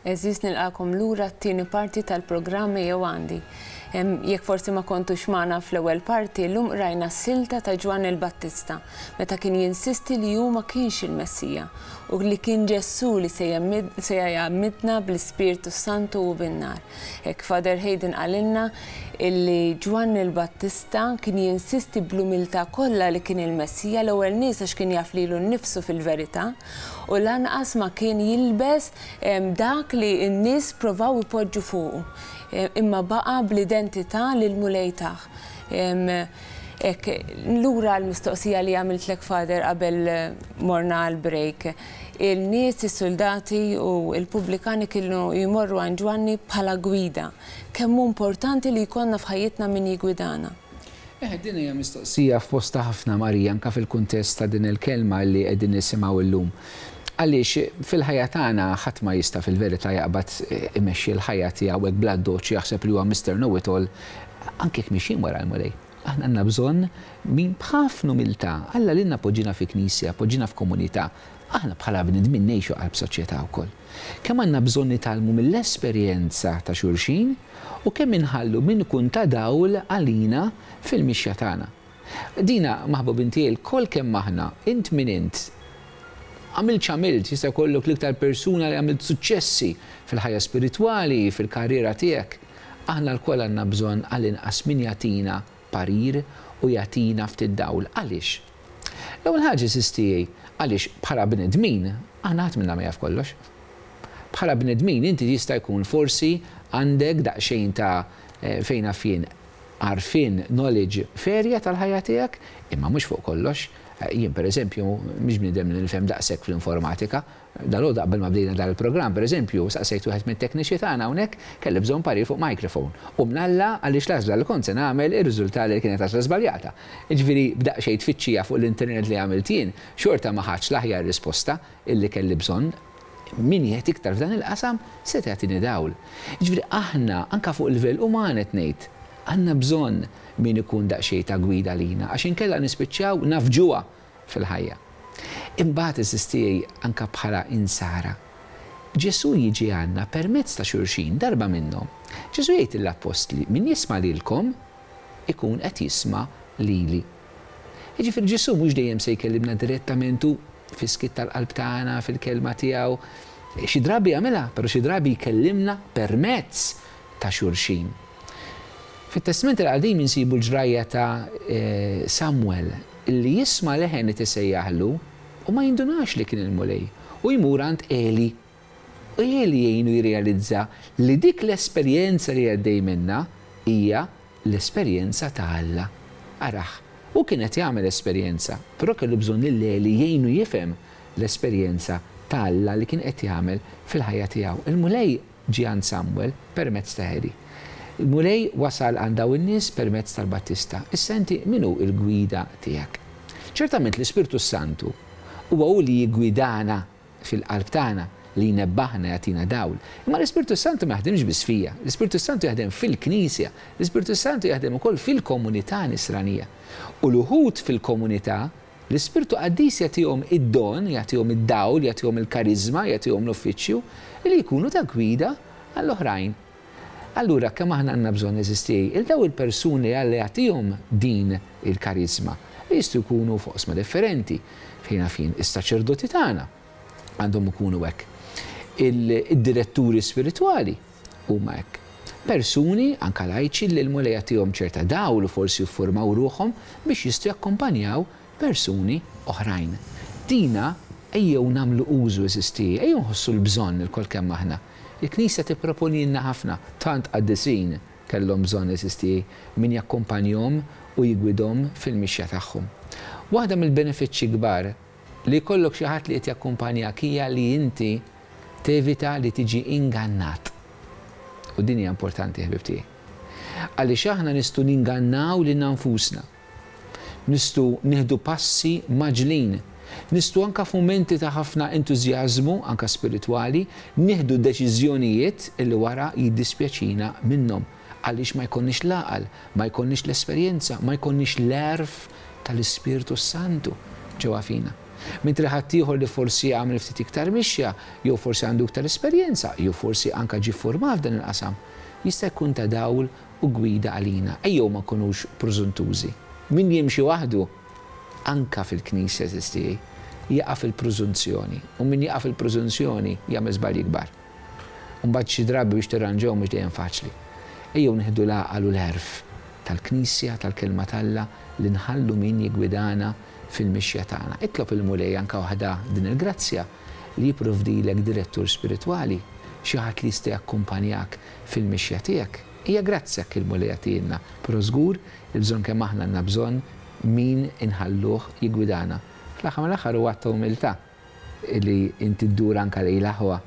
Għeżież nilqagħkom lura għat-tieni parti tal-programm Ejjew Għandi. Jekk forsi ma kontux magħna fl-ewwel parti, llum qrajna s-silta ta' Ġwanni l-Battista meta kien jinsisti li hu ma kienx il-Messija u li kien Ġesù li se jgħammidna bl-Ispirtu s-Santu u bin-nar. Hekk Father Hayden qalilna illi Ġwanni l-Battista kien jinsisti bl-umiltà kollha li kien il-Messija l-ewwel nies għax kien jaf lilu nnifsu fil-verità u lanqas ma kien jilbes dak li n-nies provaw ipoġġu fuqu, imma baqa' bl-identità li l-Mulej tah. Hekk, lura għall-mistoqsija li għamiltlek Father qabel morna għall-break. Il-nies, is-suldati u l-pubblikani kienu jmorru għand Ġwanni bħala gwida. Kemm hu importanti li jkollna f'ħajjitna min jiggwidana? Eħe, din hija mistoqsija f'postha ħafna, Marija, anke fil-kuntest ta' din il-kelma li qegħdin nisimgħu llum. Għaliex fil-ħajja tagħna ħadd ma jista' fil-verità jaqbad imexxi l-ħajja tiegħu hekk bl-addoċċ u jaħseb li huwa Mister Know It All, anke jekk mixjin wara l-Mulej. Aħna għandna bżonn min b'ħafna umiltà, Alla lilna poġġiena fi knisja, poġġiena f'komunità. Aħna bħala bnedmin ngħixu qalb soċjetà wkoll. Kemm għandna bżonn nitgħallmu mill-esperjenza ta' xulxin u kemm inħallu min ikun ta' dawl għalina fil-mixja tagħna. Dina, maħbubin tiegħi, lkoll kemm aħna, int min int, għamilt x'għamilt, jista' jkollok l-iktar persuna li għamilt suċċessi fil-ħajja spiritwali, fil-karriera tiegħek, aħna lkoll għandna bżonn għall-inqas min jagħtina parir u jagħtina ftit dawl. Għaliex? L-ewwel ħaġa, għeżież tiegħi, għaliex bħala bnedmin, aħna ħadd minna ma jaf kollox. Bħala bnedmin inti jista' jkun forsi għandek daqsxejn ta' fejn naf jien, għarfien, knowledge f'area tal-ħajja tiegħek, imma mhux fuq kollox. Jien pereżempju mhix bniedem li nifhem daqshekk fl-informatika. Dalgħodu qabel ma bdejna dan il-programm pereżempju, saqsejt wieħed mit-tekniċi tagħna hawnhekk, kelli bżonn parir fuq microphone. U mnalla għaliex l-għażla li kont se nagħmel irriżultali li kienet għażla żbaljata. Jiġifieri b'daqsxejn tfittxija fuq l-internet li għamilt jien, xorta ma ħadtx l-aħjar risposta illi kelli bżonn. Min qiegħed iktar f'dan il-qasam seta' jagħtini dawl. Jiġifieri aħna, anke fuq livell uman qed ngħid, għandna bżonn min ikun daqsxejn ta' gwida lina għax inkella nispiċċaw nafġuha fil-ħajja. Imbagħad, għeżież tiegħi, anke bħala Insara, Ġesù jiġi għandna permezz ta' xulxin. Darba minnhom, Ġesù jgħid lill-appostli, Min jisma' lilkom, ikun qed jisma' lili. Jiġifieri Ġesù mhux dejjem se jkellimna direttament hu, fis-skiet tal-qalb tagħna, fil-Kelma tiegħu. Xi drabi jagħmilha, però xi drabi jkellimna permezz ta' xulxin. Fit-Testment il-Qadim insibu l-ġrajja ta' Samwel li jisma' leħen qed isejjaħlu u ma jindunax li kien il-Mulej u jmur għand Eli. U Eli jgħinu jirrealizza li dik l-esperjenza li għaddej minnha hija l-esperjenza ta' Alla. Arah, hu kien qed jagħmel esperjenza, però kellu bżonn lil Eli jgħinu jifhem l-esperjenza ta' Alla li kien qed jagħmel fil-ħajja tiegħu. Il-Mulej ġie għand Samwel permezz ta' Eli. Il-Mulej wasal għand dawn in-nies permezz tal-Battista. Issa inti min hu l-gwida tiegħek? Ċertament l-Ispirtu s-Santu huwa hu li jiggwidana fil-qalb tagħna, li jnebbaħna, jagħtina dawl. Imma l-Ispirtu s-Santu ma jaħdimx biss fija, l-Ispirtu s-Santu jaħdem fil-Knisja, l-Ispirtu s-Santu jaħdem ukoll fil-komunità Nisranija. U l-uħud fil-komunità, l-Ispirtu Qaddis jagħtihom id-don, jagħtihom id-dawl, jagħtihom il-kariżma, jagħtihom l-uffiċċju li jkunu ta' gwida għall-oħrajn. Allura kemm aħna għandna bżonn, għeżież tiegħi, 'il dawn il-persuni li Alla jagħtihom din il-kariżma, li jistgħu jkunu f'oqsma differenti, fejn naf jien, is-saċerdoti tagħna għandhom ikunu hekk. Id-diretturi spiritwali huma hekk. Persuni, anke lajċi, li l-Mulej jagħtihom ċerta dawl u forsi jiffurmaw ruħhom biex jistgħu jakkumpanjaw persuni oħrajn. Dina ejjew nagħmlu użu, għeżież tiegħi, ejjew nħossu l-bżonn ilkoll kemm aħna. Il-Knisja tipproponilna ħafna, tant qaddisin kellhom bżonn, għeżież tiegħi, min jakkumpanjhom u jiggwidhom fil-mixja tagħhom. Waħda mill-benefiċċji kbar li jkollok xi ħadd li qed jakkumpanjak hija li inti tevita li tiġi ingannat. U din hija importanti, ħbieb tiegħi. Għaliex aħna nistgħu ningannaw lilna nfusna. Nistgħu nieħdu passi mgħaġġlin. Nistgħu anke f'mumenti ta' ħafna entużjażmu, anke spiritwali, nieħdu deċiżjonijiet li wara jiddispjaċina minnhom għaliex ma jkollniex l-għaqal, ma jkollniex l-esperjenza, ma jkollniex l-għerf tal-Ispirtu s-Santu ġewwa fina. Mentri ħaddieħor li forsi għamel ftit iktar mixja, jew forsi għandu iktar esperjenza, jew forsi anke ġie ffurmat f'dan il-qasam, jista' jkun ta' dawl u gwida għalina. Ejjew ma nkunux prużuntużi. Min jimxi waħdu, anke fil-Knisja għeżież tiegħi, jaqa' fil-prużunzjoni. U min jaqa' fil-prużunzjoni jagħmel żbalji kbar. U mbagħad xi drabi biex tirranġahom mhux dejjem faċli. Ejjew nieħdu l-għaqal u l-għerf tal-Knisja, tal-Kelma t'Alla, li nħallu min jiggwidana fil-mixja tagħna. Itlob il-Mulej anke waħda din il-grazzja li jipprovdilek direttur spiritwali, xi ħadd li jista' jakkumpanjak fil-mixja tiegħek. Hija grazzja hekk il-Mulej jagħtihielna, però żgur il-bżonn kemm aħna għandna bżonn min inħalluh jiggwidana. Fl-aħħar mill-aħħar huwa att ta' umiltà li inti ddur anke lejn l-aħwa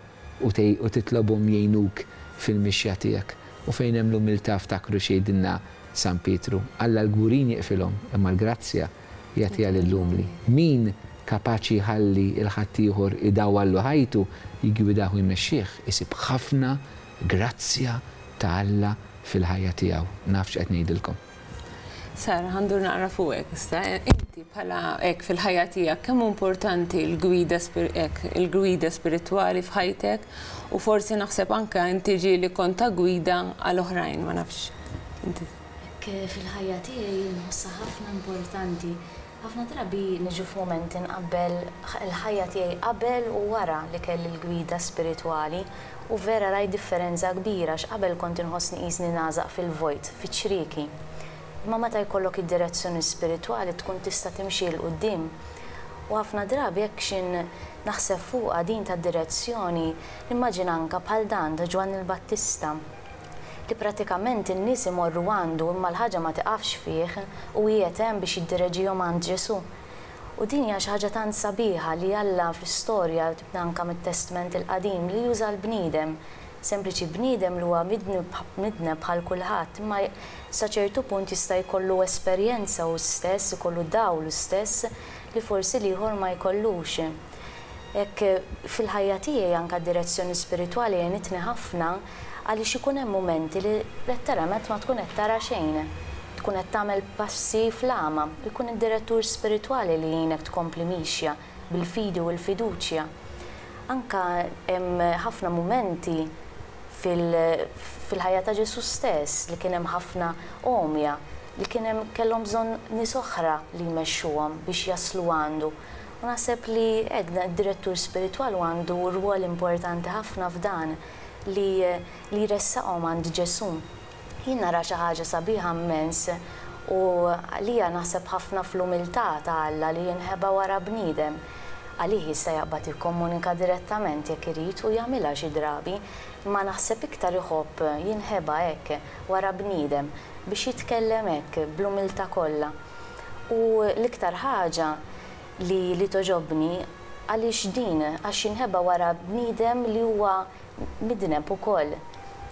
u u titlobhom jgħinuk fil-mixja tiegħek. U fejn hemm l-umiltà ftakru x'jgħidilna San Pietru, Alla l-kburin jieqfilhom, imma l-grazzja jagħtiha lill-umli. Min kapaċi jħalli 'l ħaddieħor idawwallu ħajtu, jiggwidah u jmexxih, isib ħafna grazzja ta' Alla fil-ħajja tiegħu. Naf x'qed ngħidilkom. Sara, ħa ndur naqra fuqek issa. Inti bħala hekk fil-ħajja tiegħek kemm hu importanti l-gwida hekk il-gwida spiritwali f'ħajtek u forsi naħseb anke inti ġieli kont ta' gwida għal oħrajn, ma nafx. Inti. Hekk fil-ħajja tiegħi nħossha ħafna importanti. Ħafna drabi niġu f'mumenti nqabbel il-ħajja tiegħi qabel u wara li kelli l-gwida spiritwali u vera rajt differenza kbira għax qabel kont inħossni qisni nagħżaq fil-vojt, fiċ-ċrieki. Imma meta jkollok id-direzzjoni spiritwali tkun tista' timxi 'l quddiem. U ħafna drabi hekk x'in naħseb fuqha din tad-direzzjoni nimmaġina anke bħal dan ta' Ġwanni l-Battista. Li pratikament in-nies imorru għandu imma l-ħaġa ma tiqafx fih u qiegħed hemm biex jiddireġihom għand Ġesù. U din hija xi ħaġa tant sabiħa li Alla fl-istorja, tibda anke mit-Testment il-Qadim, li juża l-bniedem. Sempliċi bniedem li huwa midneb bħal kulħadd, imma sa ċertu punt jista' jkollu esperjenza hu stess, ikollu dawl hu stess li forsi l-ieħor ma jkollux. Hekk fil-ħajja tiegħi anke d-direzzjoni spiritwali għenitni ħafna għaliex ikun hemm mumenti li letteralment ma tkun qed tara xejn. Tkun qed tagħmel passi fl-għama u jkun id-direttur spiritwali li jgħinek tkompli mixja bil-fidi u l-fiduċja. Anke hemm ħafna mumenti fil-ħajja ta' Ġesù stess li kien hemm ħafna għomja li kien hemm kellhom bżonn nies oħra li jmexxuhom biex jaslu għandu. U naħseb li hekk dan id-direttur spiritwali għandu rwol importanti ħafna f'dan li li jressaqhom għand Ġesù. Jien nara xi ħaġa sabiħa mmens u għalija naħseb ħafna fl-umiltà ta' Alla li jinħeba wara bniedem. Għalih jista' jaqbad jikkomunika direttament jekk irid u jagħmilha xi drabi, imma naħseb iktar iħobb jinħeba hekk wara bniedem biex jitkellem hekk bl-umiltà kollha. U l-iktar ħaġa li li togħġobni għaliex din, għax jinħeba wara bniedem li huwa midneb ukoll.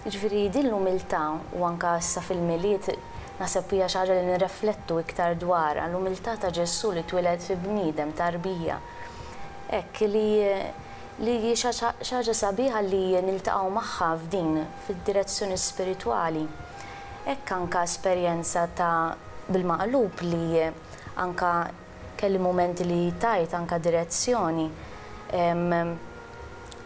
Jiġifieri din l-umiltà u anke issa fil-Milied naħseb hija xi ħaġa li nirreflettu iktar dwarha, l-umiltà ta' Ġesù li twieled fi bniedem, tarbija. Hekk li li hi xi ħaġa sabiħa li niltaqgħu magħha f'din, fid-direzzjoni spiritwali. Hekk anke esperjenza ta' bil-maqlub li anke kelli mumenti li tajt anke direzzjoni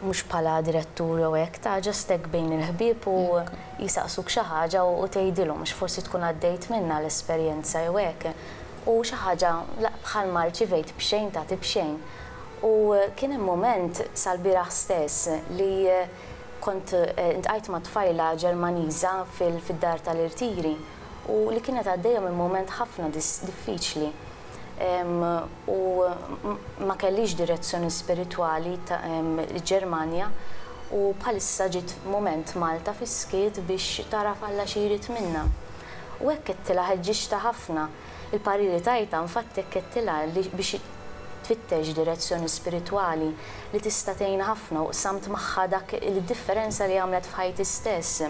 mhux bħala direttur jew hekk ta' just hekk bejn il-ħbieb u jsaqsuk xi ħaġa u tgħidilhom għax forsi tkun għaddejt minnha l-esperjenza jew hekk u xi ħaġa bħalma rċivejt b'xejn tagħti b'xejn. U kien hemm mument sal-bieraħ stess li kont iltqajt ma' tfajla Ġermaniża fid-dar tal-irtiri u li kienet għaddejja minn mument ħafna diffiċli u ma kellhiex direzzjoni spiritwali ta' l-Ġermanja u bħalissa ġiet mument Malta fis-skiet biex tagħraf Alla xi jrid minnha. U hekk għedtilha ħeġġiġtha ħafna. Il-pariri tajtha infatti hekk għedtilha li biex tfittex direzzjoni spiritwali li tista' tgħinha ħafna u qsamt magħha dak il-differenza li għamlet f'ħajti stess.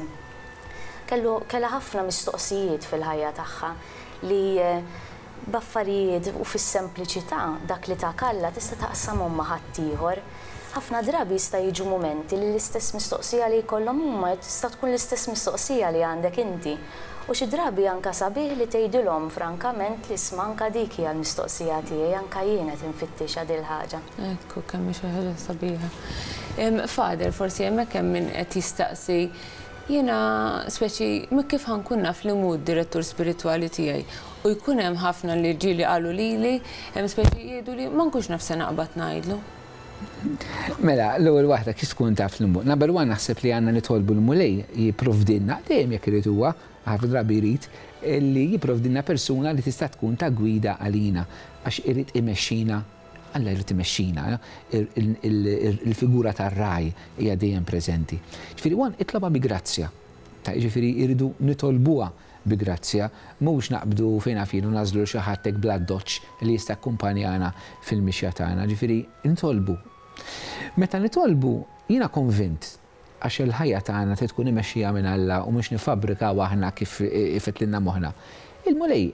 Kellu kellha ħafna mistoqsijiet fil-ħajja tagħha li b'affarijiet u fis-sempliċità dak li tak Alla tista' taqsamhom ma' ħaddieħor. Ħafna drabi jista' jiġu mumenti li l-istess mistoqsija li jkollhom huma tista' tkun l-istess mistoqsija li għandek inti. U xi drabi anke sabiħ li tgħidilhom frankament li isma' anke dik hija l-mistoqsija tiegħi, anke jien qed infittixha dil-ħaġa. Ekku, kemm hi xi ħaġa sabiħa. Father, forsi hemmhekk hemm min qed jistaqsi, jiena speċi kif ħa nkun naf li mhu d-direttur spiritwali tiegħi? U jkun hemm ħafna li ġieli qalu lili, speċi jgħidu li ma nkunx naf se naqbad ngħidlu. Mela, l-ewwel waħda kif tkun taf li mhu. Number one naħseb li għandna nitolbu l-Mulej jipprovdilna, dejjem jekk irid huwa, ħafna drabi jrid, li jipprovdilna persuna li tista' tkun ta' gwida għalina għax irid imexxina, Alla jrid imexxina, il-figura tar-ragħaj hija dejjem preżenti. Ġifieri one itlobha bi grazzja. Ta' jiġifieri jridu nitolbuha bi grazzja, mhux naqbdu fejn naf jien u nagħżlu lil xi ħadd hekk bl-addoċċ li jista' jakkumpanjana fil-mixja tagħna. Ġifieri nitolbu. Meta nitolbu, jiena konvint, għax il-ħajja tagħna trid tkun imexxija minn Alla u mhux niffabbrikaw aħna kif ifettlilna moħħna. Il-Mulej,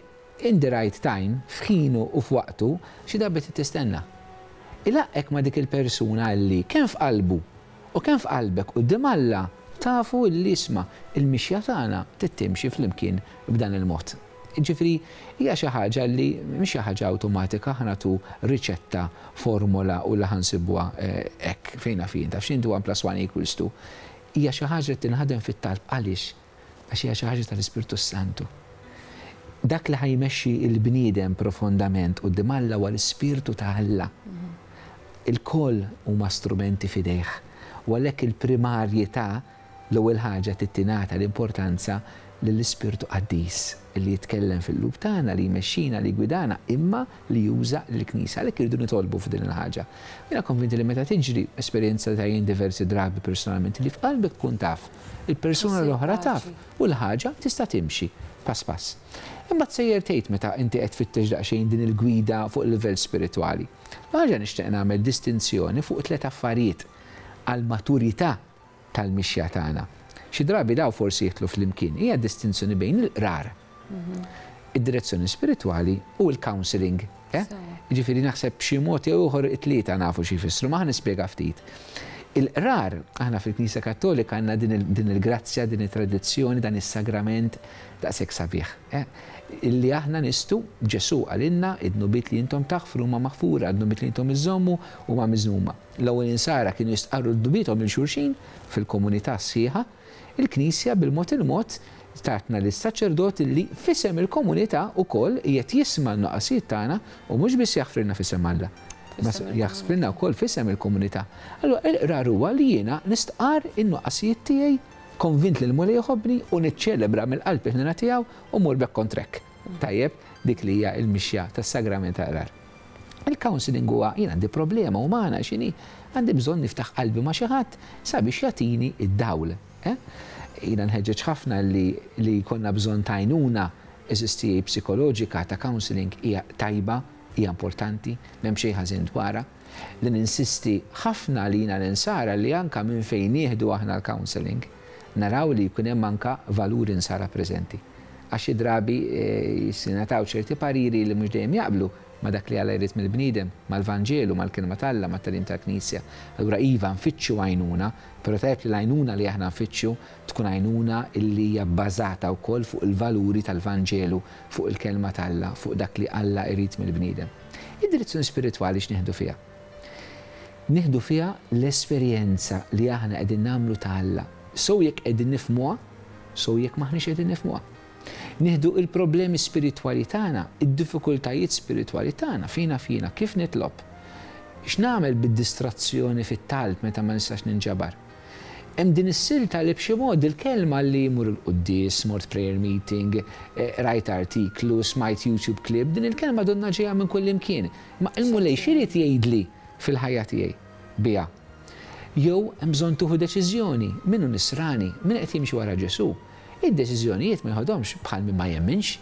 in the right time, f'ħinu u f'waqtu, xi darba trid tistenna. Ilaqqgħek ma' dik il-persuna li kemm f'qalbu U kemm f'qalbek quddiem Alla tafu illi isma' il-mixja tagħna trid timxi flimkien b'dan il-mod. Jiġifieri hija xi ħaġa li mhix xi ħaġa awtomatika ħa nagħtu riċetta, formola u li ħa nsibuha hekk fejn naf jien taf x'inti one plus one equals two. Hija xi ħaġa li tinħadem fit-talb għaliex? Għax hija xi ħaġa tal-Ispirtu s-Santu. Dak li ħa jmexxi l-bniedem profondament quddiem Alla huwa l-Ispirtu ta' Alla. Ilkoll huma strumenti f'idejh. U għalhekk il-primarjetà, l-ewwel ħaġa trid tingħata l-importanza lill-Ispirtu Qaddis li jitkellem fil-qlub tagħna, li jmexxina, li jiggwidana, imma li juża lill-Knisja. Għalhekk irridu nitolbu f'din il-ħaġa. Jiena konvinti li meta tiġri, esperjenza ta' jien diversi drabi personalment, li f'qalbek tkun taf, il-persuna l-oħra taf, u l-ħaġa tista' timxi pass pass. Imbagħad sejjer tgħid meta inti qed tfittex daqsxejn din il-gwida fuq il-livell spiritwali. L-ħaġa nixtieq nagħmel distinzjoni fuq tliet affarijiet għall-maturità tal-mixja tagħna. Xi drabi dawn forsi jidħlu flimkien. Hija distinzjoni bejn il-qrar, id-direzzjoni spiritwali u l-counselling. Eh? Jiġifieri naħseb b'xi mod jew ieħor it-tlieta nafu xi jfissru, ma ħa nispjega ftit. Il-qrar, aħna fil-Knisja Kattolika għandna din il-grazzja, din it-tradizzjoni, dan is-sagrament daqshekk sabiħ. Eh? Illi aħna nistgħu, Ġesù qalilna, id-dnubiet li intom taħfru huma maħfura, id-dnubiet li intom iżżommu huma miżmuma. L-ewwel insara kienu jistqarru dnubiethom lil xulxin fil-komunità sħiħa. Il-Knisja bil-mod il-mod tatna lis-saċerdot li f'isem il-komunità wkoll qiegħed jisma' n-nuqqasijiet tagħna u mhux biss jaħfrilna f'isem Alla, imma jaħfrilna wkoll f'isem il-komunità. Allura il-qrar huwa li jiena nistqarr in-nuqqasijiet tiegħi, konvint li l-Mulej iħobbni u niċċelebra mill-qalb il-ħniena tiegħu u mmur back on track. Tajjeb, dik li hija l-mixja tas-sagrament tal-qrar. Il-counselling huwa jien għandi problema umana x'inhi, għandi bżonn niftaħ qalbi ma' xi ħadd sabiex jagħtini d-dawl. Eh? Jiena nħeġġeġ ħafna li li jkollna bżonn ta' għajnuna eżistijej psikoloġika ta' counselling hija tajba, hija importanti, m'hemm xejn ħażin dwarha. Li ninsisti ħafna lina l-Insara li anke minn fejn nieħdu aħna l-counselling, naraw li jkun hemm anke valuri Nsara preżenti. Għax xi drabi jingħataw ċerti pariri li mhux dejjem jaqblu ma' dak li Alla jrid mill-bniedem, mal-Vanġelu, mal-Kelma t'Alla, mat-tagħlim tal-Knisja. Allura iva, nfittxu għajnuna, però tajjeb li l-għajnuna li aħna nfittxu tkun għajnuna li hija bbażata wkoll fuq il-valuri tal-Vanġelu, fuq il-Kelma t'Alla, fuq dak li Alla jrid mill-bniedem. Id-direzzjoni spiritwali x'nieħdu fiha? Nieħdu fiha l-esperjenza li aħna qegħdin nagħmlu ta' Alla, sew jekk qegħdin nifhmuha, sew jekk m'aħniex qegħdin nifhmuha. Nieħdu il-problemi spiritwali tagħna, id-diffikultajiet spiritwali tagħna, fina fina, kif nitlob? X'nagħmel bid-distrazzjoni fit-talb meta ma nistax ninġabar? Hemm din is-silta li b'xi mod il-kelma li mur il-quddies, mort prayer meeting, qrajt artiklu, smajt YouTube clip, din il-kelma donnha ġejja minn kullimkien. Imma il-Mulej x'irid jgħidli fil-ħajja tiegħi biha? Jew hemm bżonn tieħu deċiżjoni, min hu nisrani, min qed jimxi wara Ġesù, id-deċiżjonijiet ma jeħodhomx bħal min ma jemminx,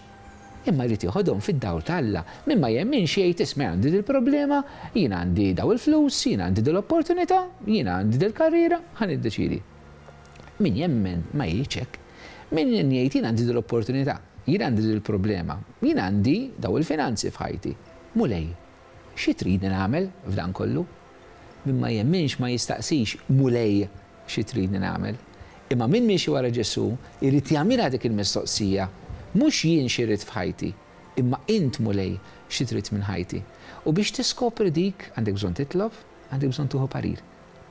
imma jrid jeħodhom fid-dawl ta' Alla. Min ma jemminx jgħid isma' jien għandi dil-problema, jien għandi daw il-flus, jien għandi dil-opportunità, jien għandi dil-karriera, ħa niddeċiedi. Min jemmen ma jgħidx hekk. Min jgħid jien għandi dil-opportunità, jien għandi dil-problema, jien għandi daw il-finanzi f'ħajti. Mulej, xi tridni nagħmel f'dan kollu? Min ma jemminx ma jistaqsix, Mulej, xi tridni nagħmel? Imma min miexi wara Ġesù jrid jagħmilha dik il-mistoqsija, mhux jien xi rrid f'ħajti, imma int Mulej xi trid minn ħajti. U biex tiskopri dik għandek bżonn titlob, għandek bżonn tieħu parir,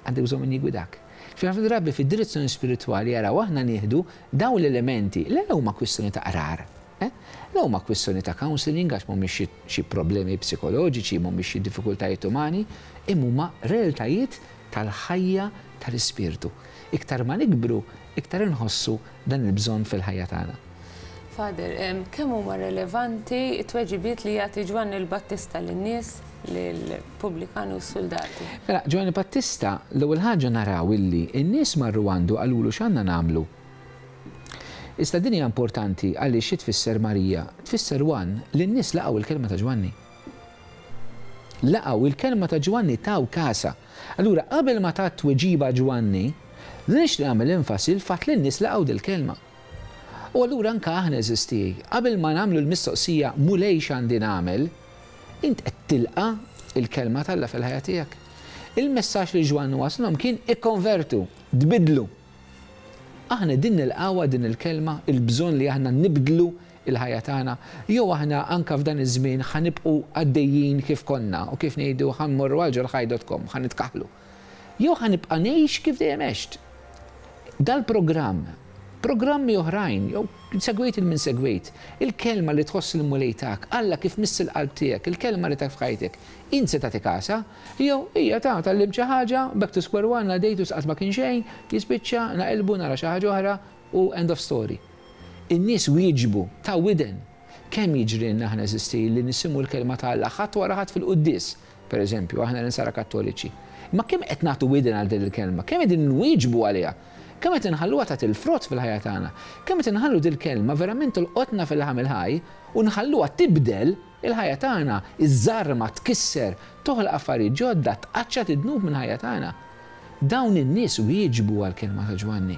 għandek bżonn min jiggwidak. Ġifieri ħafna drabi fid-direzzjoni spiritwali araw aħna nieħdu dawn l-elementi li la huma kwistjoni ta' qrar, eh, la huma kwistjoni ta' counselling għax mhumiex xi problemi psikoloġiċi, mhumiex xi diffikultajiet umani, imma huma realtajiet tal-ħajja tal-ispirtu. Iktar ma nikbru, iktar inħossu dan il-bżonn fil-ħajja tagħna. Father, kemm huma relevanti t-tweġibiet li jagħti Ġwanni l-Battista lin-nies, lill-pubblikani u s-suldati? Mela, Ġwanni Battista, l-ewwel ħaġa naraw illi n-nies marru għandu qalulu x'għandna nagħmlu. Issa din hija importanti għaliex xi tfisser Marija? Tfisser one li n-nies laqgħu l-kelma ta' Ġwanni. Laqgħu il-kelma ta' Ġwanni taw kasha. Allura qabel ma ta t-tweġiba Ġwanni, li nixtieq nagħmel enfasi l-fatt li n-nies laqgħu dil-kelma. U allura anke aħna għeżież tiegħi, qabel ma nagħmlu l-mistoqsija Mulej x'għandi nagħmel, int qed tilqa' l-kelma t'Alla fil-ħajja tiegħek? Il-messaġġ li Ġwanni waslhom kien ikkonvertu, tbiddlu. Aħna qegħdin nilqgħuha din il-kelma, il-bżonn li aħna nibdlu l-ħajja tagħna? Jew aħna anke f'dan iż-żmien ħa nibqgħu għaddejjin kif konna u kif ngħidu ħa mmorru għal ġol-ħaj dot com, ħa nitkaħħlu? Jew ħa nibqa' ngħix kif dejjem għext? Dal-programm, programmi oħrajn, jew segwejt 'il min segwejt, il-kelma li tħoss il-Mulej tak, Alla kif miss il-qalb tiegħek, il-kelma li tak f'ħajtek, int se tagħti kasha? Jew, hija ta, tgħallimt xi ħaġa, back to square one, għaddejt u qatt ma kien xejn, jispiċċa, naqilbu, nara xi ħaġa oħra u end of story. In-nies wieġbu, taw widen. Kemm jiġrilna aħna għeżież tiegħi li nisimgħu l-kelma ta' Alla ħadd wara ħadd fil-quddies, per eżempju, aħna l-insara Kattoliċi. Imma kemm qed nagħtu widen għal din il-kelma? Kemm qegħdin nwieġbu għaliha? Kemm qed inħalluha tagħti l-frott fil-ħajja tagħna? Kemm qed inħallu dil-kelma verament tolqotna fil-laħam il-ħaj u nħalluha tibdel il-ħajja tagħna, iżżarma, tkisser, toħloq affarijiet ġodda, tqaċċat id-dnub mill-ħajja tagħna? Dawn in-nies wieġbu għall-kelma ta' Ġwanni.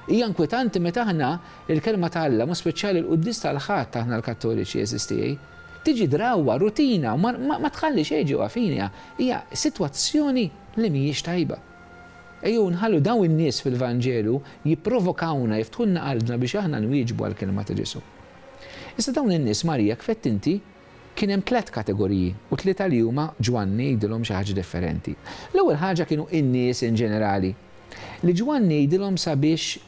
Hija inkwetanti meta aħna, il-Kelma ta' Alla, mod speċjali l-quddies tal-Ħadd aħna l-Kattoliċi, għeżież tiegħi, tiġi drawwa, rutina, u ma tħalli xejn ġewwa fina. Hija sitwazzjoni li mhijiex tajba. Ejjew nħallu dawn in-nies fil-Vanġelu jipprovokawna, jiftħulna qalbna biex aħna nwieġbu għall-Kelma ta' Ġesù. Issa dawn in-nies, Marija, kif għedt inti, Kien hemm tlett kategoriji u tlieta li huma Ġwanni jgħidilhom xi ħaġa differenti. L-ewwel ħaġa kienu in-nies in ġenerali, li Ġwanni jgħidilhom sabiex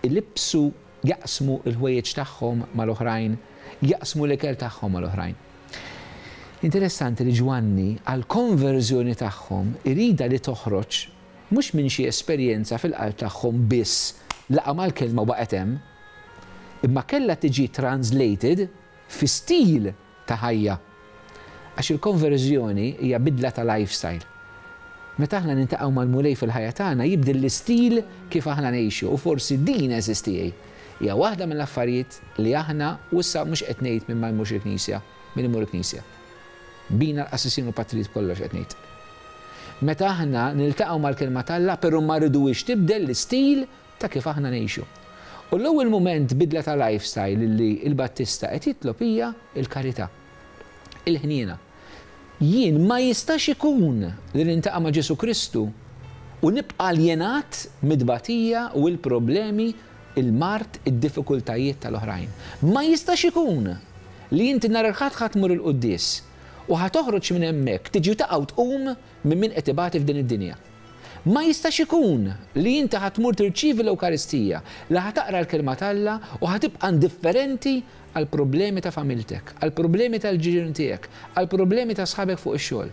ilibbsu, jaqsmu l-ħwejjeġ tagħhom mal-oħrajn, jaqsmu l-ikel tagħhom mal-oħrajn. Interessanti li Ġwanni għall-konverżjoni tagħhom iridha li toħroġ mhux minn xi esperjenza fil-qalb tagħhom biss laqa' mal-kelma u baqgħet hemm, imma kellha tiġi translated fi stil ta' ħajja. Għax il-konverżjoni hija bidla ta' lifestyle. Meta aħna niltaqgħu mal-Mulej fil-ħajja tagħna jibdel l-istil kif aħna ngħixu u forsi din għeżież tiegħi hija waħda mill-affarijiet li aħna u issa mhux qed ngħid min ma jmurx il-knisja, min imur il-knisja. Bina l-qassisin u l-patrijiet b'kollox qed ngħid. Meta aħna niltaqgħu mal-Kelma t'Alla però ma rriduhiex tibdel l-istil ta' kif aħna ngħixu. U l-ewwel mument bidla ta' lifestyle li l-Battista qed jitlob hija l-karità. Il-ħniena. Jien ma jistax ikun li niltaqa' ma' Ġesù Kristu u nibqa' aljenat mit-tbatija u l-problemi, il-mard, id-diffikultajiet tal-oħrajn. Ma jistax ikun li inti nhar il-Ħadd ħa tmur il-quddies u ħa toħroġ minn hemmhekk tiġi u taqa' u tqum minn min qed ibati f'din id-dinja. Ma jistax ikun li inti ħa tmur tirċievi l-Ewkaristija, li ħa taqra l-Kelma t'Alla u ħa tibqa' indifferenti għall-problemi ta' familtek, għall-problemi tal-ġirien tiegħek, għall-problemi ta' sħabek fuq ix-xogħol.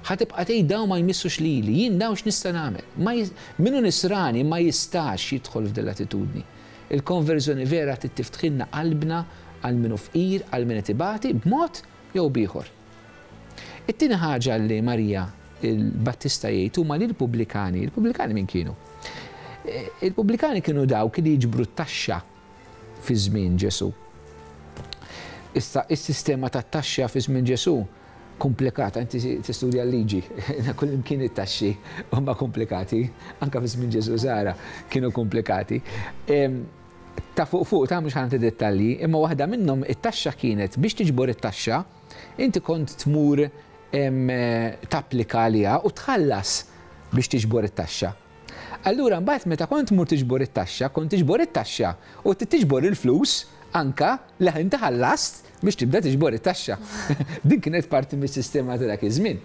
Ħa tibqa' tgħid dawn ma jmissux lili, jien dawn x'nista' nagħmel? Ma Min hu Nisrani ma jistax jidħol f'din l-attitudni. Il-konverżjoni vera trid tiftħilna qalbna għal min hu fqir, għal min qed ibati, b'mod jew b'ieħor. It-tieni ħaġa li Marija il-Battista jgħid huma li l-pubblikani, il-pubblikani min kienu? Il-pubblikani kienu dawk li jiġbru t-taxxa fi żmien Ġesù. Issa, is-sistema tat-taxxa fi żmien Ġesù komplikata, inti tistudja l-liġi, kullimkien it-taxxi huma komplikati, anke fi żmien Ġesù Sara kienu komplikati. Ta' fuq fuq, ta' mhux ħa nagħti dettalji, imma waħda minnhom it-taxxa kienet biex tiġbor it-taxxa, inti kont tmur tapplika għaliha u tħallas biex tiġbor it-taxxa. Allura mbagħad meta kont tmur tiġbor it-taxxa, kont tiġbor it-taxxa u trid tiġbor il-flus anka li inti ħallast biex tibda tiġbor it-taxxa. Din kienet parti mis-sistema ta' dak iż-żmien.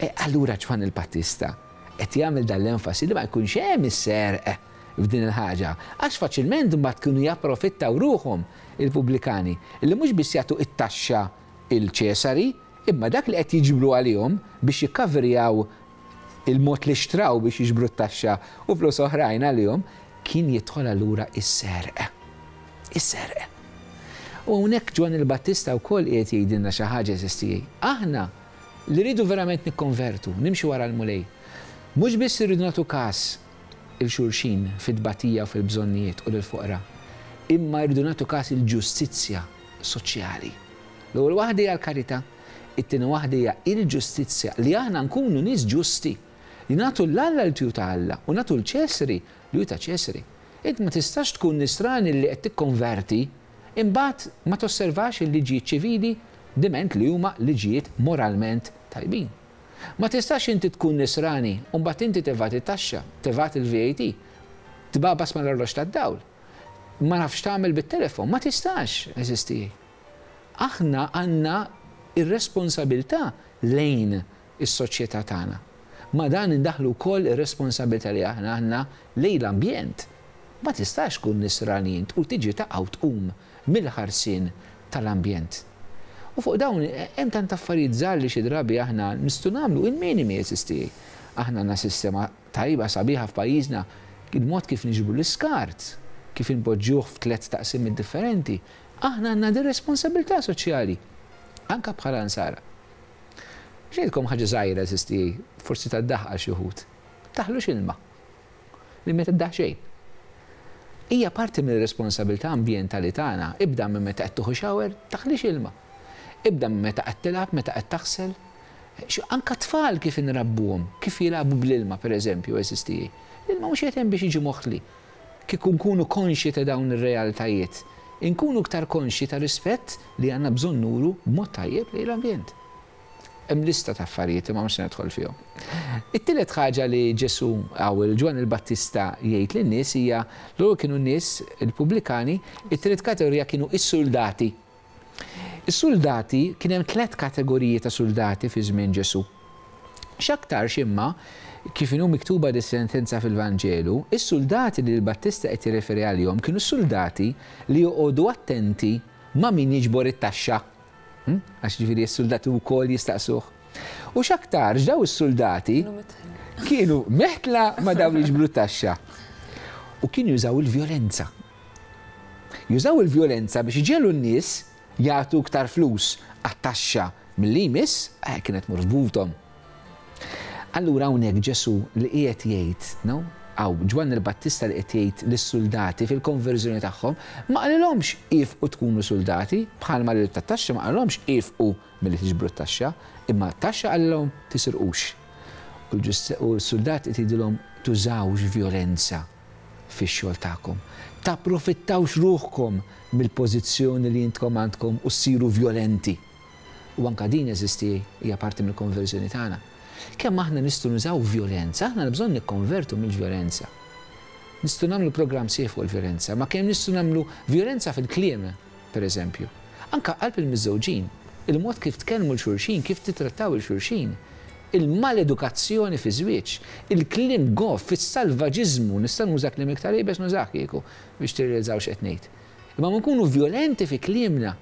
E, allura Ġwanni l-Battista qed jagħmel dan l-enfasi li ma jkunx hemm is-serq f'din il-ħaġa, għax faċilment imbagħad kienu japprofittaw ruħhom il-pubblikani li mhux biss jagħtu it-taxxa il Ċesari, imma dak li qed jiġbru għalihom biex jikkaverjaw il-mod li xtraw biex jiġbru t-taxxa u flus oħrajn għalihom, kien jidħol allura is-serq. Is-serq. U hawnhekk Ġwanni l-Battista wkoll qiegħed jgħidilna xi ħaġa għeżież tiegħi. Aħna li rridu verament nikkonvertu, nimxu wara l-Mulej, mhux biss irridu nagħtu kas 'il xulxin fit-tbatija u fil-bżonnijiet u lill-foqra, imma rridu nagħtu kas il-ġustizzja soċjali. L-ewwel waħda hija l-karità, it-tieni waħda hija l-ġustizzja, li aħna nkunu nies ġusti, li nagħtu 'l Alla li hu ta' Alla u nagħtu 'l Ċesri li hu ta' Ċesri. Int ma tistax tkun nisrani li qed tikkonverti imbagħad ma tosservax il-liġijiet ċivili diment li huma liġijiet moralment tajbin. Ma tistax inti tkun nisrani u mbagħad inti tevadi t-taxxa, tevadi l-VAT, tbagħbas mal-arloġġ tad-dawl. Ma nafx x'tagħmel bit-telefon. Ma tistax, għeżież tiegħi. Aħna għandna r-responsabilità lejn is-soċjetà tagħna. Ma' dan indaħħlu wkoll ir-responsabilità li aħna għandna lejn l-ambjent. Ma tistax tkun nisrani int u tiġi taqa' u tqum mill-ħarsien tal-ambjent. U fuq dawn hemm tant affarijiet żgħar li xi drabi aħna nistgħu nagħmlu, il-minimi għeżież tiegħi. Aħna għandna sistema tajba sabiħa f'pajjiżna, il-mod kif niġbru l-iskart, kif inpoġġuh f'tlett taqsimiet differenti. Aħna għandna din responsabilità soċjali, anke bħala Nsara. Biex ngħidilkom ħaġa żgħira għeżież tiegħi, forsi tad-daħq għal xi wħud. Taħlux ilma. Li ma tiddaħ xejn. Hija parti mir-responsabilità ambjentali tagħna. Ibda minn meta qed tieħu shower, taħlix ilma. Ibda minn meta qed tilgħab, meta qed taħsel. Anke t-tfal kif inrabbuhom, kif jilagħbu bl-ilma pereżempju, għeżież tiegħi. L-ilma mhux qiegħed hemm biex jiġi moħli. Kieku nkunu konxji ta' dawn ir-realtajiet, inkunu iktar konxji ta' rispett li għandna bżonn nuru b'mod tajjeb lejn l-ambjent. Hemm lista ta' affarijiet imma mhux se nidħol fihom. It-tielet ħaġa li Ġesù hawn il-Ġwanni l-Battista jgħid lin-nies hija l-ewwel kienu n-nies il-pubblikani, it-tielet kategorija kienu s-suldati. Is-suldati, kien hemm tlett kategoriji ta' suldati fi żmien Ġesù. X'aktarx imma, kif inhu miktuba dis-sentenza fil-Vanġelu, is-suldati li l-Battista qed jirreferi għalihom kienu s-suldati li joqogħdu attenti ma' min jiġbor it-taxxa. Għax jiġifieri s-suldati wkoll jistaqsuh. U x'aktarx daw is-suldati kienu meħtla ma' dawn li jiġbru t-taxxa. U kienu jużaw il-vjolenza. Jużaw il-vjolenza biex iġegħlu n-nies jagħtu iktar flus għat-taxxa milli jmiss, eh, kienet tmur f'buthom. Allura hawnhekk Ġesù li qiegħed jgħid, no? Hawn Ġwanni l-Battista li qed jgħid lis-suldati fil-konverżjoni tagħhom, ma qalilhomx iefqu tkunu suldati, bħalma lil tat-taxxa ma qalilhomx iefqu milli tiġbru t-taxxa, imma t-taxxa qalilhom tisirqux. U l-suldati qed jgħidilhom tużawx vjolenza. fix-xogħol tagħkom. Tapprofittawx ruħkom mill-pożizzjoni li intkom għandkom u ssiru vjolenti. U anke din, għeżież tiegħi, hija parti mill-konverżjoni tagħna. Kemm aħna nistgħu nużaw vjolenza, aħna għandna bżonn nikkonvertu mill-vjolenza. Nistgħu nagħmlu programm sħiħ fuq il-vjolenza, ma kemm nistgħu nagħmlu vjolenza fil-kliem, per eżempju. Anke qalb il-miżżewġin, il-mod kif tkellmu 'l xulxin, kif tittrattaw 'il xulxin, il-maledukazzjoni fiż-żwieġ, il-kliem goff, is-salvaġiżmu, nista' nuża kliem iktar iebes nużah kieku biex tirrealizzaw x'qed ngħid. Imma ma nkunu vjolenti fi kliemna.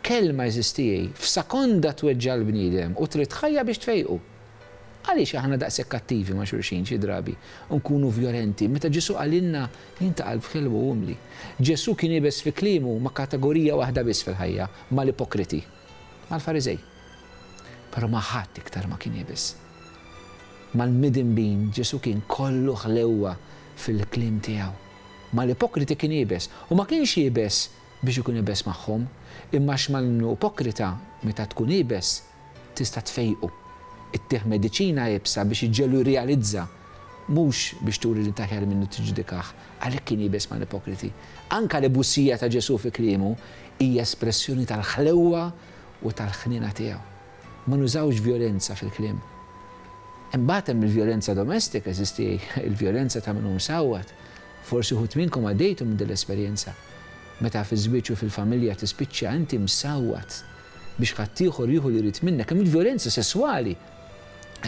Kelma għeżież tiegħi, f'sekonda tweġġa' l-bniedem u trid ħajja biex tfejqu. Għaliex aħna daqshekk kattivi ma' xulxin xi drabi u nkunu vjolenti meta Ġesù qalilna jien ta' qalb ħelwa u umli? Ġesù kien iebes fi kliemu ma' kategorija waħda biss fil-ħajja, mal-ipokriti, mal-Fariżej. Però ma' ħadd iktar ma kien iebes. Mal-midinbin Ġesù kien kollu ħlewwa fil-kliem tiegħu. Mal-ipokriti kien iebes u ma kienx iebes biex ikun iebes magħhom, imma għax mal-ipokrita meta tkun iebes tista' tfejqu. Ittih mediċina iebsa biex iġġegħlu jirrealizza, mhux biex turi li int aħjar minnu tiġġudikah. Għalhekk kien iebes mal-ipokriti. Anke l-ebusija ta' Ġesù fi kliemu hija espressjoni tal-ħlewwa u tal-ħniena tiegħu. Ma nużawx vjolenza fil-kliem. Imbagħad hemm il-vjolenza domestika, eżisti il-vjolenza ta' min hu msawwat. Forsi wħud minnkom għaddejtu minn din l-esperjenza. Meta fiż-żwieġ u fil-familja tispiċċa inti msawwat biex ħaddieħor jieħu li jrid minnek. Hemm il-vjolenza sesswali,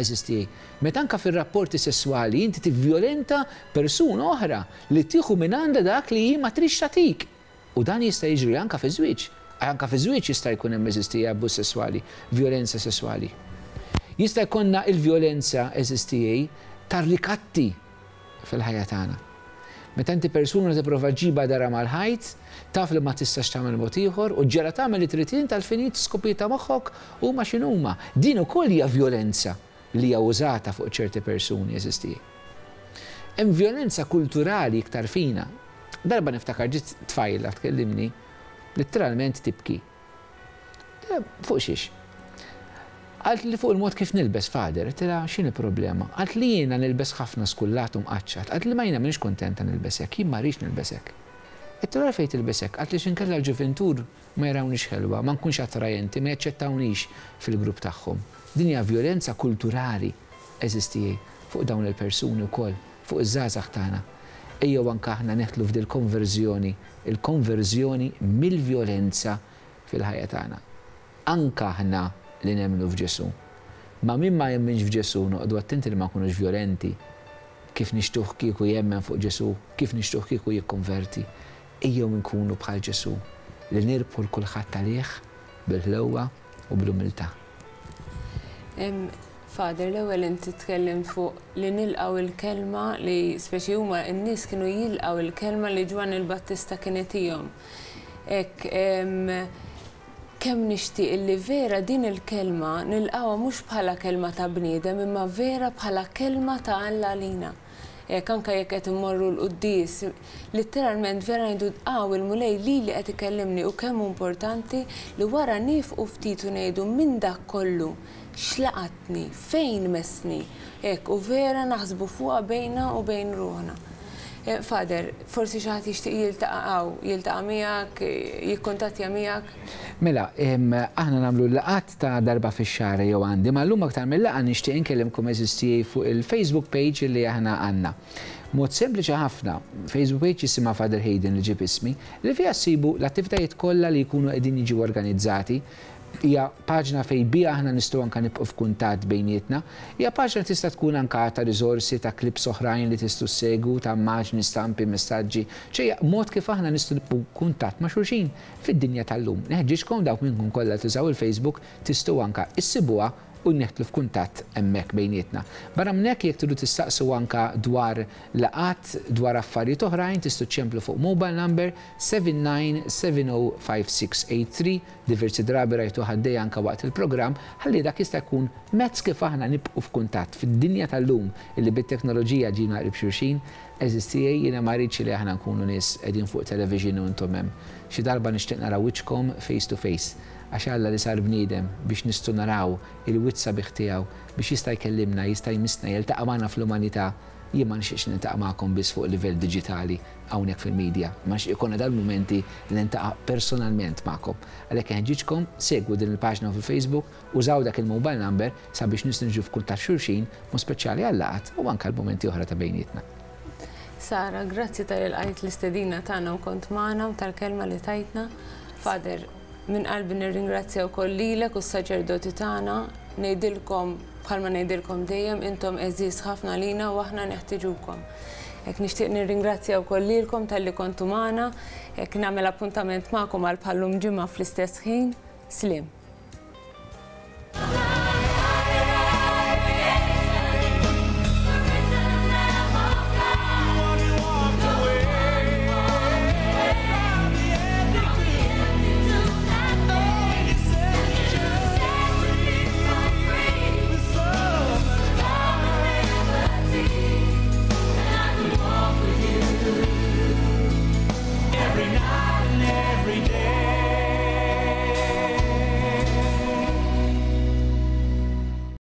eżisti, meta anke fir-rapporti sesswali inti tivvjolenta persuna oħra li tieħu mingħandha dak li hi ma tridx tagħtik. U dan jista' jiġri anke fiż-żwieġ. Anke fiż-żwieġ jista' jkun hemm eżisti abbuż sesswali, vjolenza sesswali. Jista' jkollna l-vjolenza eżisti tar-rikatti fil-ħajja tagħna. Meta inti persuna tipprova ġġibha darha mal-ħajt, taf li ma tistax tagħmel mod ieħor u ġġegħla tagħmel li trid int għall-finijiet skopijiet ta' moħħok huma x'inhuma. Din ukoll hija vjolenza li hija użata fuq ċerti persuni eżisti. Hemm vjolenza kulturali iktar fina. Darba niftakar ġiet tfajla tkellimni, litteralment tibki. Fuq xiex? Qaltli fuq il-mod kif nilbes, Father. Għedtilha, x'inhi l-problema? Qaltli jiena nilbes ħafna skullat u mqaċċat. Qaltli ma jiena m'iniex kuntenta nilbes hekk, jien ma rridx nilbes hekk. Għedtilha għalfejn tilbes hekk? Qaltli x'inkella l-ġuvintur ma jarawnix ħelwa, ma nkunx attrajenti, ma jaċċettawnix fil-grupp tagħhom. Din hija vjolenza kulturali, għeżież tiegħi, fuq dawn il-persuni wkoll, fuq iż-żgħażagħ tagħna. Ejjew anke aħna neħtlu f'dil-konverżjoni, il-konverżjoni mill-vjolenza fil-ħajja tagħna. Anke aħna li nemmnu f'Ġesù. Ma' min ma jemminx f'Ġesù noqogħdu attenti li ma nkunux vjolenti. Kif nixtuh kieku jemmen fuq Ġesù, kif nixtuh kieku jikkonverti. Ejjew inkunu bħal Ġesù, li nirbħu 'l kulħadd għalih bil-ħlewwa u bl-umiltà. Father, l-ewwel inti tkellimt fuq li nilqgħu l-kelma li speċi huma n-nies kienu jilqgħu l-kelma li Ġwanni l-Battista kien itihom. Hekk kemm nixtieq li vera din il-kelma nilqgħuha mhux bħala kelma ta' bniedem imma vera bħala kelma ta' Alla għalina. Hekk anke jekk qed immorru l-quddies, litteralment vera ngħidu hawn il-Mulej lili qed ikellimni u kemm hu importanti li wara niefqu ftit u ngħidu minn dak kollu x'laqatni, fejn messni, hekk u vera naħsbu fuqha bejna u bejn ruħna. Father, forsi xi ħadd jixtieq jiltaqa' hawn, jiltaqa' miegħek, jikkuntattja miegħek? Mela, aħna nagħmlu l-laqgħat ta' darba fix-xahar jew għandi, ma llum aktar mil-laqgħa nixtieq inkellimkom għeżież tiegħi fuq il-Facebook page li aħna għandna. Mod sempliċi ħafna, Facebook page jisimha Father Hayden li ġieb ismi, li fiha ssibu l-attivitajiet kollha li jkunu qegħdin jiġu organizzati Hija paġna fejn biha aħna nistgħu anke nibqgħu f'kuntatt bejnietna. Hija paġna li tista' tkun anke ta' riżorsi, ta' clips oħrajn li tistgħu ssegwu, ta' immaġni, stampi, messaġġi. Ċe hija mod kif aħna nistgħu nibqgħu f'kuntatt ma' xulxin fid-dinja tal-lum. Neħġiġkom dawk minnkom kollha li tużaw il-Facebook tistgħu anke issibuha u neħtlu f'kuntatt hemmhekk bejnietna. Barra minn hekk jekk tridu tistaqsu anke dwar laqgħat, dwar affarijiet oħrajn tistgħu ċċemplu fuq mobile number 79705683, diversi drabi rajtuh għaddej anke waqt il-programm, ħalli dak jista' jkun mezz kif aħna nibqgħu f'kuntatt fid-dinja tal-lum illi bit-teknoloġija ġina qrib xulxin. Għeżież tiegħi, jiena ma rridx li aħna nkunu nies qegħdin fuq television u intom hemm. Xi darba nixtieq nara wiċċkom face to face. Għax Alla li sar bniedem biex nistgħu naraw il-wiċċ sabiħ tiegħu, biex jista' jkellimna, jista' jmissna, jiltaqa' magħna fl-umanità, jien ma nixtieqx niltaqa' magħkom biss fuq livell diġitali hawnhekk fil-media, imma nixtieq ikollna dal-mumenti li niltaqa' personalment magħkom. Għalhekk inħeġġiġkom, segwu din il-paġna fil-Facebook, użaw dak il-mobile number sabiex nistgħu niġu f'kuntatt xulxin, b'mod speċjali għal-laqgħat u anke għal mumenti oħra ta' bejnietna. Sara, grazzi talli lqajt l-istedina tagħna u kont magħna u tal-kelma li tajtna. Father, Minn qalbi nirringrazzja wkoll lilek u s-saċerdoti tagħna. Ngħidilkom, bħalma ngħidilkom dejjem, intom għeżież ħafna għalina u aħna neħtiġukom. Hekk nixtieq nirringrazzja wkoll lilkom talli kontu magħna. Hekk nagħmel appuntament magħkom għal bħal-lum ġimgħa fl-istess ħin. Sliem.